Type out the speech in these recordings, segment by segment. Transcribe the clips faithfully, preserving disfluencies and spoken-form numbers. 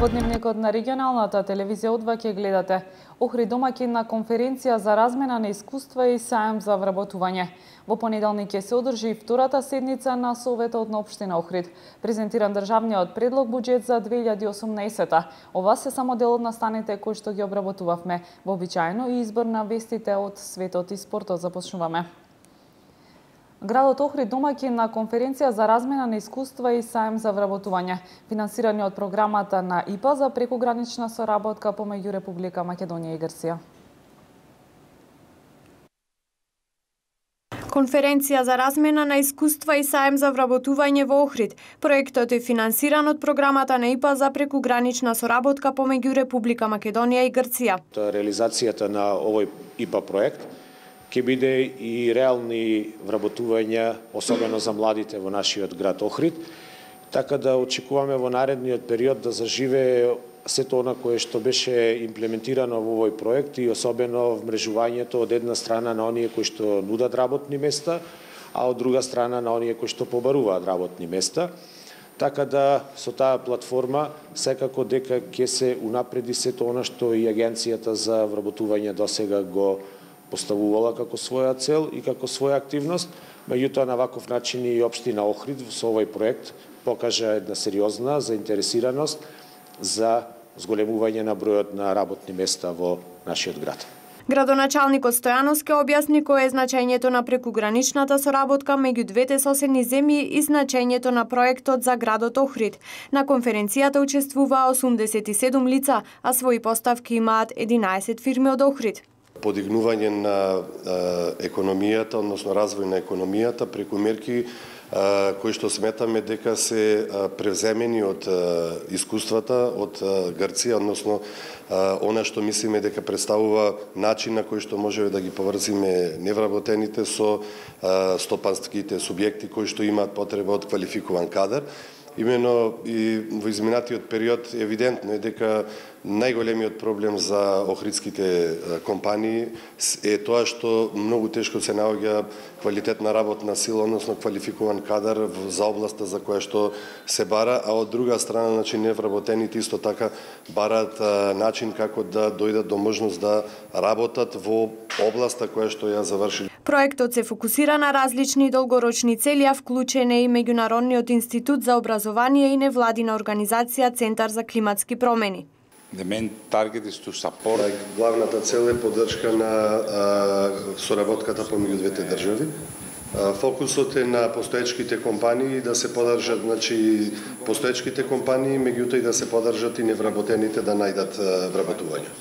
Во дневникот на регионалната телевизија О два ќе гледате Охрид домаќин на конференција за размена на искуства и саем за вработување. Во понеделник ќе се одржи втората седница на Советот на општина Охрид. Презентиран државниот предлог буџет за две илјади и осумнаесета. Ова се само дел од настаните кои што ги обработувавме. Вообичаено и избор на вестите од светот и спортот започнуваме. Градот Охрид домаќин на конференција за размена на искуства и саем за вработување, финансирани од програмата на И П А за прекугранична соработка помеѓу Република Македонија и Грција. Конференција за размена на искуства и саем за вработување во Охрид. Проектот е финансиран од програмата на И П А за прекугранична соработка помеѓу Република Македонија и Грција. Реализацијата на овој И П А проект ќе биде и реални вработувања, особено за младите во нашиот град Охрид, така да очекуваме во наредниот период да заживее сето она кое што беше имплементирано во овој проект и особено вмрежувањето од една страна на оние кои што нудат работни места, а од друга страна на оние кои што побаруваат работни места. Така да со таа платформа секако дека ќе се унапреди сето она што и Агенцијата за вработување досега го поставувала како своја цел и како своја активност, меѓутоа на ваков начин и општина Охрид со овој проект покажа една сериозна заинтересираност за зголемување на бројот на работни места во нашиот град. Градоначалникот Стојановски објасни кое е значењето на прекуграничната соработка меѓу двете соседни земји и значењето на проектот за градот Охрид. На конференцијата учествуваа осумдесет и седум лица, а своји поставки имаат единаесет фирми од Охрид. Подигнување на економијата, односно развој на економијата преку мерки кои што сметаме дека се превземени од искуствата од Грција, односно она што мислиме дека представува начин на кој што можеме да ги поврзиме невработените со стопанските субјекти кои што имаат потреба од квалификуван кадар. Имено и во изминатиот период евидентно е дека најголемиот проблем за охридските компании е тоа што многу тешко се наоѓа квалитетна работна сила, односно квалификуван кадар за областа за која што се бара, а од друга страна, значи невработените исто така бараат начин како да дојдат до можност да работат во областа која што ја завршили. Проектот се фокусира на различни долгорочни цели, а вклучен е и Меѓународниот институт за образование и невладина организација Центар за климатски промени. The main target is to support. Главната цел е поддршка на а, соработката помеѓу двете држави. А, фокусот е на постоечките компании да се поддржат, значи постоечките компании, меѓутоа и да се поддржат и невработените да најдат а, вработување.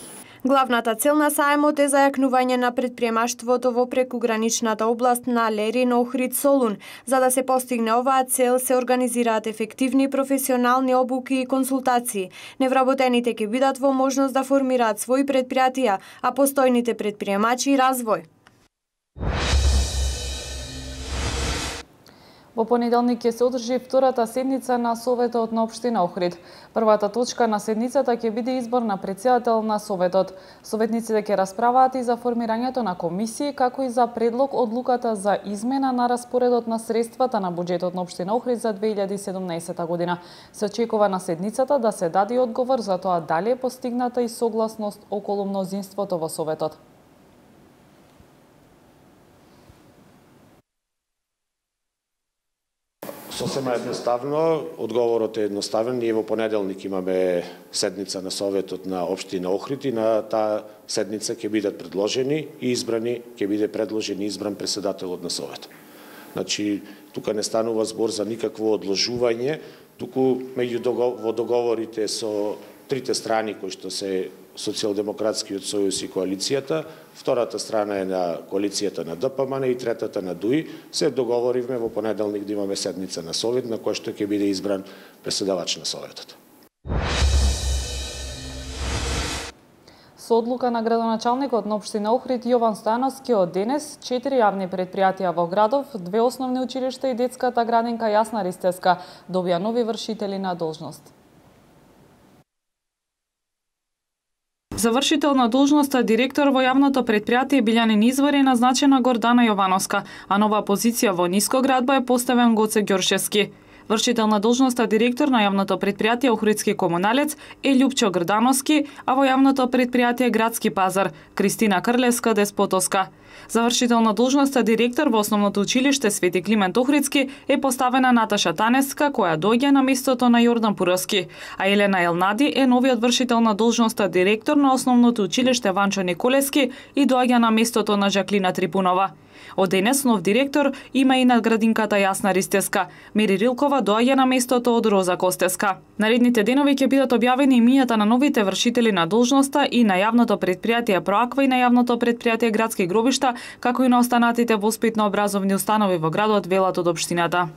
Главната цел на саемот е зајакнување на предприемаштвото во прекуграничната област на Лерин, Охрид, Солун. За да се постигне оваа цел се организираат ефективни професионални обуки и консултации. Невработените ќе бидат во можност да формираат своји предпријатија, а постојните предприемачи и развој. Во понеделник ќе се одржи втората седница на Советот на општина Охрид. Првата точка на седницата ќе биде избор на претседател на Советот. Советниците ќе расправаат и за формирањето на комисии, како и за предлог одлуката за измена на распоредот на средствата на буџетот на општина Охрид за две илјади и седумнаесета година. Се очекува на седницата да се даде одговор за тоа дали е постигната и согласност околу мнозинството во Советот. Сосема едноставно, одговорот е едноставен. Ние во понеделник имаме седница на Советот на општина Охрид и на таа седница ќе бидат предложени и избрани, ќе биде предложен и избран претседателот на Советот. Значи, тука не станува збор за никакво одложување, туку меѓу во договорите со трите страни кои што се Социјалдемократскиот сојуз и коалицијата, втората страна е на коалицијата на Д П М Н и третата на Д У И, се договоривме во понеделник да имаме седница на Совет на која што ќе биде избран претседавач на Советот. Со одлука на градоначалникот на општина Охрид Јован Стојановски од денес, четири јавни предпријатија во градов, две основни училишта и детската градинка Јасна Ристевска добија нови вршители на должност. Завршител на должноста директор во јавното предпријатие Билјанин Извор е назначена Гордана Јовановска, а нова позиција во Нискоградба е поставен Гоце Ѓоршевски. Вршител на должноста директор на јавното претпријатие Охридски комуналец е Љупчо Грдановски, а во јавното претпријатие Градски пазар Кристина Крлевска Деспотовска. Завршител на должноста директор во Основното училиште Свети Климент Охридски е поставена Наташа Танеска, која доаѓа на местото на Јордан Пуровски, а Елена Елнади е новиот вршител на должноста директор на Основното училиште Ванчо Николевски и доаѓа на местото на Жаклина Трипунова. Од денес нов директор има и надградинката Јасна Ристеска. Мери Рилкова доаѓа на местото од Роза Костеска. Наредните денови ќе бидат објавени имињата на новите вршители на должноста и на јавното претпријатие Проаква и на јавното претпријатие Градски гробишта, како и на останатите воспитно-образовни установи во градот велат од општината.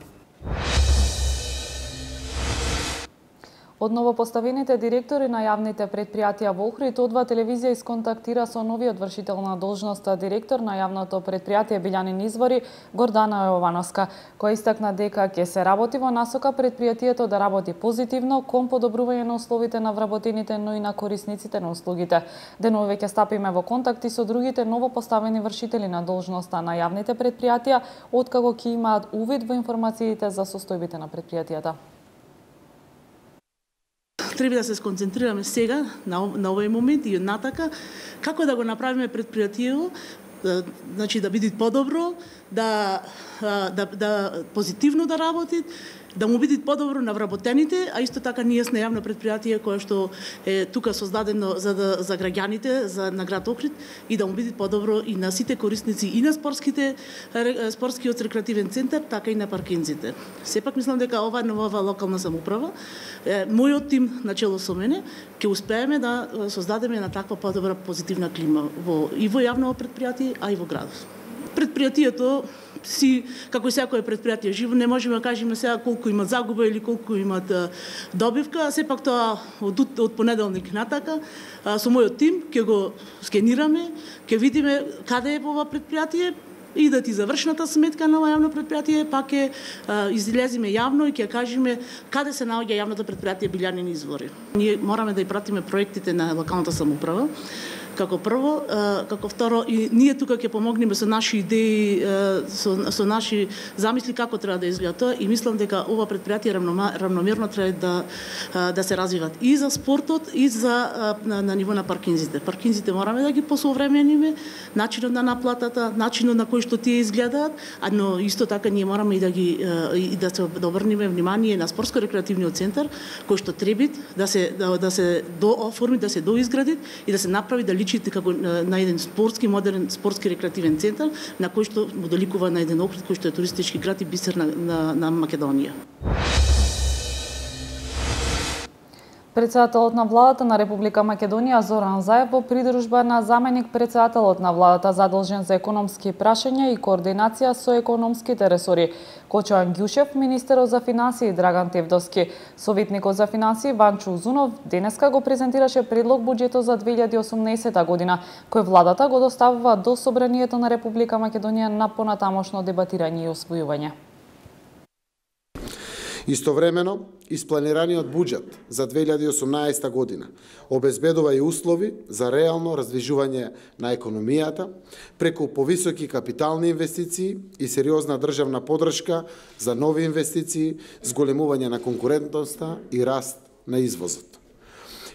Од новопоставените директори на јавните претпријатија во Охрид, Одва телевизија исконтактира со новиот вршител на должноста директор на јавното претпријатие Билјанин извори Гордана Јовановска, која истакна дека ќе се работи во насока претпријатието да работи позитивно кон подобрување на условите на вработените, но и на корисниците на услугите. Денови ќе стапиме во контакти со другите новопоставени вршители на должноста на јавните претпријатија, откако ќе имаат увид во информациите за состојбите на претпријатијата. Треба да се сконцентрираме сега на, на овој момент и натака како да го направиме претпријатието, да, значи да биде подобро, да, да, да позитивно да работи, да му биде подобро на вработените, а исто така ние сме јавно претпријатие кое што е тука создадено за да, за граѓаните, за на град Охрид и да му биде подобро и на сите корисници и на спортските спортскиот рекреативен центар, така и на паркинзите. Сепак мислам дека ова нова локална самоуправа, е, мојот тим начело со мене, ќе успееме да создадеме на таква подобра позитивна клима во и во јавно претпријатие, а и во градот. Предпријатието си, како и секое предпријатие живо, не можеме да кажеме сега колку има загуба или колку имат добивка, а сепак тоа од, од понеделник натака со мојот тим ќе го скенираме, ќе видиме каде е ова предпријатие и да ти завршната сметка на ова јавно предпријатие, пак ќе излеземе јавно и ќе кажеме каде се наоѓа јавното предпријатие Билјанин извори. Ние мораме да ја пратиме проектите на локалната самоуправа, како прво, како второ, и ние тука ќе помогнеме со наши идеи, со, со наши замисли како треба да изгледа тоа и мислам дека ова предпријатие равномерно треба да да се развиват и за спортот и за на, на ниво на паркинзите. Паркинзите мораме да ги посовремениме, начинот на наплатата, начинот на кој што тие изгледаат, а но исто така ние мораме и да ги и да се да обрнеме внимание на спортско-рекреативниот центар кој што треба да се да, да се дооформи, да се доизгради и да се направи да личите како на еден спортски, модерен спортски рекреативен центар, на кој што му доликува на еден Охрид кој што е туристички град и бисер на, на, на Македонија. Председателот на владата на Република Македонија Зоран Заев во придружба на заменик председателот на владата задолжен за економски прашања и координација со економските ресори Кочо Ангјушев, министерот за финансии Драган Тевдовски, советникот за финансии Ванчо Узунов денеска го презентираше предлог буџетот за две илјади и осумнаесета година, кој владата го доставува до Собранието на Република Македонија на понатамошно дебатирање и освојување. Истовремено, испланираниот буџет за две илјади и осумнаесета година обезбедува и услови за реално раздвижување на економијата преку повисоки капитални инвестиции и сериозна државна поддршка за нови инвестиции, зголемување на конкурентноста и раст на извозот.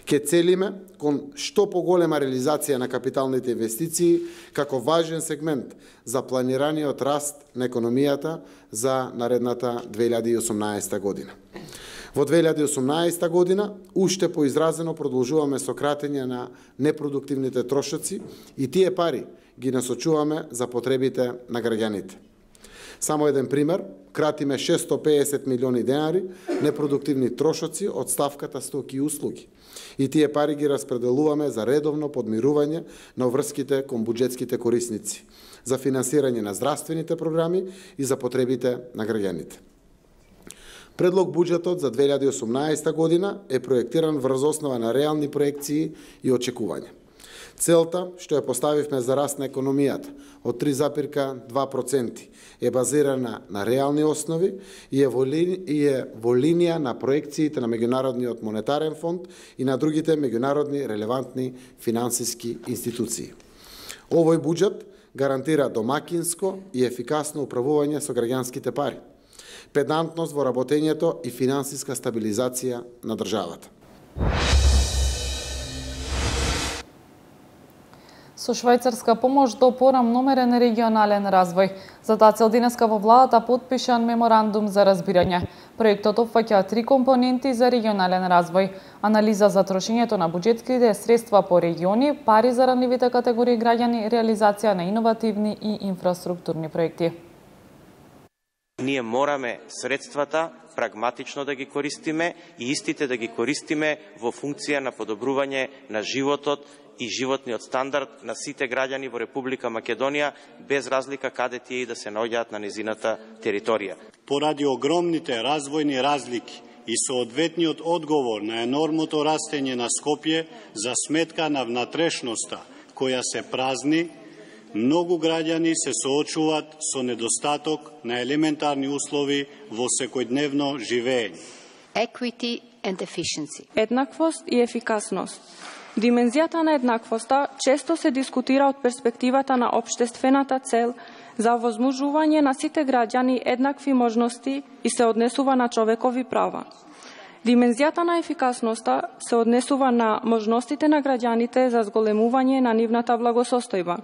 Ке целиме кон што поголема реализација на капиталните инвестиции како важен сегмент за планираниот раст на економијата за наредната две илјади и осумнаесета година. Во две илјади и осумнаесета година уште поизразено продолжуваме со кратење на непродуктивните трошоци и тие пари ги насочуваме за потребите на граѓаните. Само еден пример, кратиме шестстотини и педесет милиони денари непродуктивни трошоци од ставката стоки и услуги. И тие пари ги распределуваме за редовно подмирување на врските кон буџетските корисници, за финансирање на здравствените програми и за потребите на граѓаните. Предлог буџетот за две илјади и осумнаесета година е проектиран врз основа на реални проекции и очекувања. Целта што ја поставивме за раст на економијата од три запирка два проценти е базирана на реални основи и е во, ли, и е во линија на проекциите на Меѓународниот монетарен фонд и на другите меѓународни релевантни финансиски институции. Овој буџет гарантира домакинско и ефикасно управување со граѓанските пари. педантност во работењето и финансиска стабилизација на државата. Со швајцарска помош до порамномерен регионален развој. За таа цел денеска во владата потпишан меморандум за разбирање. Проектот опфаќа три компоненти за регионален развој: анализа за трошењето на буџетските средства по региони, пари за ранливите категории граѓани, реализација на иновативни и инфраструктурни проекти. Ние мораме средствата прагматично да ги користиме и истите да ги користиме во функција на подобрување на животот и животниот стандард на сите граѓани во Република Македонија, без разлика каде тие и да се наоѓаат на незината територија. Поради огромните развојни разлики и соодветниот одговор на енормното растење на Скопје за сметка на внатрешноста која се празни, многу граѓани се соочуваат со недостаток на елементарни услови во секојдневно живење. Equity and efficiency. Еднаквост и ефикасност. Димензијата на еднаквоста често се дискутира од перспективата на општествената цел за овозможување на сите граѓани еднакви можности и се однесува на човекови права. Димензијата на ефикасноста се однесува на можностите на граѓаните за зголемување на нивната благосостојба.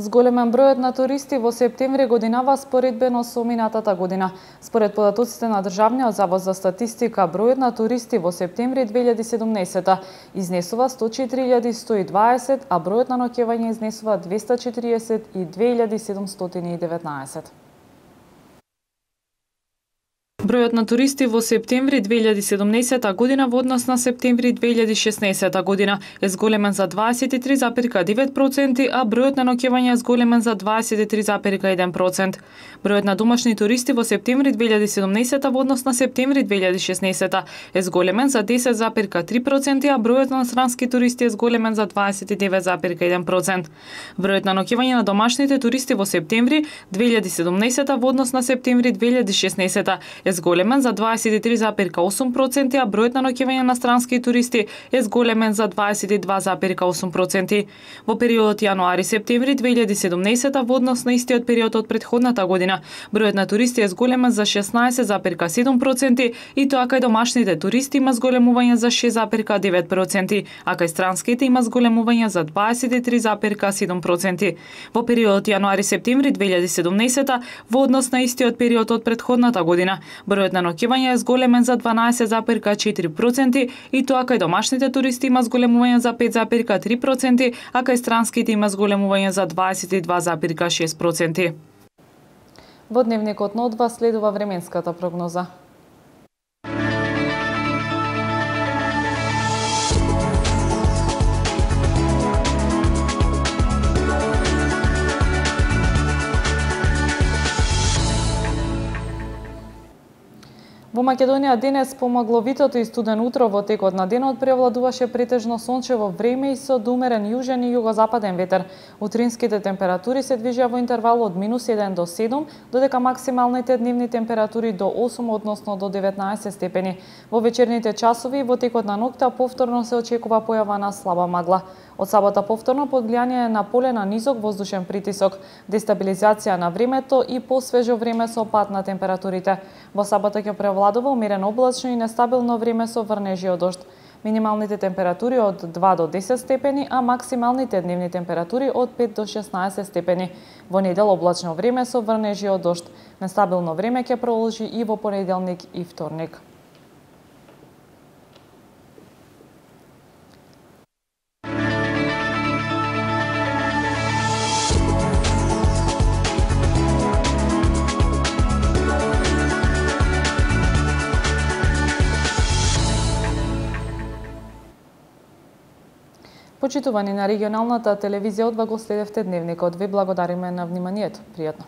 Зголемен бројот на туристи во септември годинава споредбено со минатата година. Според податоците на Државниот завод за статистика, бројот на туристи во септември две илјади и седумнаесета изнесува сто четири илјади сто и дваесет, а бројот на ноќевања изнесува двеста четиридесет и две илјади седумстотини и деветнаесет. Бројот на туристи во септември две илјади и седумнаесета година во однос на септември две илјади и шеснаесета година е зголемен за дваесет и три запирка девет проценти, а бројот на ноќевања е зголемен за дваесет и три запирка еден процент. Бројот на домашни туристи во септември две илјади и седумнаесета во однос на септември две илјади и шеснаесета е зголемен за десет запирка три проценти, а бројот на странски туристи е зголемен за дваесет и девет запирка еден процент. Бројот на ноќевања на домашните туристи во септември две илјади и седумнаесета во однос на септември две илјади и шеснаесета е зголемен за дваесет и три запирка осум проценти, а бројот на ноќевања на странски туристи е зголемен за дваесет и два запирка осум проценти. Во периодот јануари-септември две илјади и седумнаесета во однос на истиот период од претходната година, бројот на туристи е зголемен за шеснаесет запирка седум проценти и тоа кај домашните туристи има зголемување за шест запирка девет проценти, а кај странските има зголемување за дваесет и три запирка седум проценти. Во периодот јануари-септември две илјади и седумнаесета во однос на истиот период од претходната година, бројот на ноќевања е зголемен за дванаесет запирка четири проценти и тоа кај домашните туристи има зголемување за пет запирка три проценти, а кај странските има зголемување за дваесет и два запирка шест проценти. Во дневникот на одва следува временската прогноза. Во Македонија денес помагловитото и студен утро во текот на денот преовладуваше претежно сончево време и со умерен јужен и југозападен ветер. Утринските температури се движеа во интервал од минус еден до седум, додека максималните дневни температури до осум, односно до деветнаесет степени. Во вечерните часови во текот на ноќта повторно се очекува појава на слаба магла. Од сабота повторно под влијание на поле на низок воздушен притисок, дестабилизација на времето и посвежо време со пад на температурите. Во сабота ќе превладува умерено облачно и нестабилно време со врнежи од дожд. Минималните температури од два до десет степени, а максималните дневни температури од пет до шеснаесет степени. Во недел облачно време со врнежи од дожд. Нестабилно време ќе продолжи и во понеделник и вторник. Почитувани на регионалната телевизија, одва го следевте дневникот. Ви благодариме на вниманието. Пријатно.